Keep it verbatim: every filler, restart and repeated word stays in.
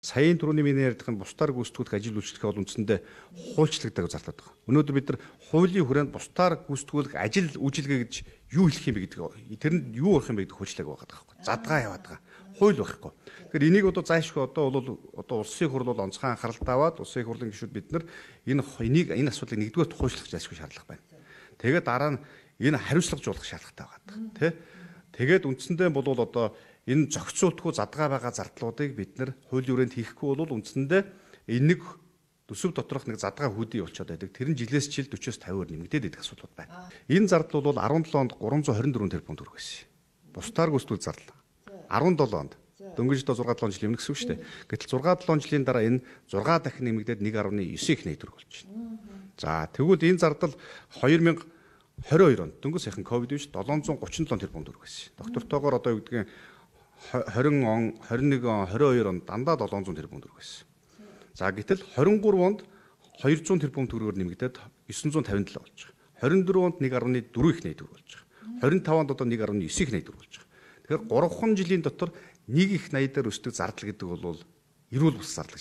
Саяын түрүүний миний ярьдаг нь бусдаар гүйцэтгэх ажил үйлчлэхээ бол үндсэндээ хуульчлагддаг гэж зарлаад байгаа. Өнөөдөр бид нар хуулийн хүрээнд бусдаар гүйцэтгүүлэх ажил үйлчилгээ гэж юу хэлэх юм бэ гэдэг тэрэнд юу орох юм бэ гэдэг хуульчлаг байгаа байхгүй. Задгаа яваад байгаа. Хууль байхгүй. Тэгэхээр энийг одоо зайлшгүй одоо бол одоо улсын хурл бол онцгой анхааралтай аваад улсын хурлын гишүүд бид нар энэ энийг энэ асуудлыг нэгдүгээр хуульчлах зайлшгүй шаардлага байна. Тэгээд дараа нь энэ хариуцлагажуулах шаардлагатай байгаа. Тэ? Тэгээд үндсэндээ бол одоо энэ зохицуултгүй задгаа байгаа зардлуудыг бид нар хуулийн хүрээнд хийхгүй бол үндсэндээ энэ нэг төсөв доторх нэг задгаа хүүдий болчиход байдаг. Тэр нь жилээс жил forty-с fifty-аар нэмэгдээд идэх асуудал байна. Энэ зардал бол seventeen онд three twenty-four тэрбум төгрөг байсан. Бусдаар гүйцэтгэл зардал. seventeen онд дөнгөж одоо six seven жил өмнө гэсэн үг шүү дээ. Гэтэл six seven жилийн дараа энэ six дахин нэмэгдээд one point nine их төгрөг болж байна. За тэгвэл энэ зардал twenty twenty-two онд дөнгөж сайхан ковид биш seven thirty-seven тэрбум төгрөг байсан. Доктортойгоор одоо юу гэдгийг twenty он, twenty-one он, twenty-two онд дандаа seven hundred тэрбум төгрөг байсан. За гэтэл twenty-three онд two hundred тэрбум төгрөгөөр нэмэгдээд nine fifty-seven болж байгаа. twenty-four онд one point four их төгрөг болж байгаа. twenty-five онд одоо one point nine их төгрөг болж байгаа. Тэгэхээр three жилийн дотор нэг их eighty дээр өсдөг зардал гэдэг бол эрүүл бус зардал.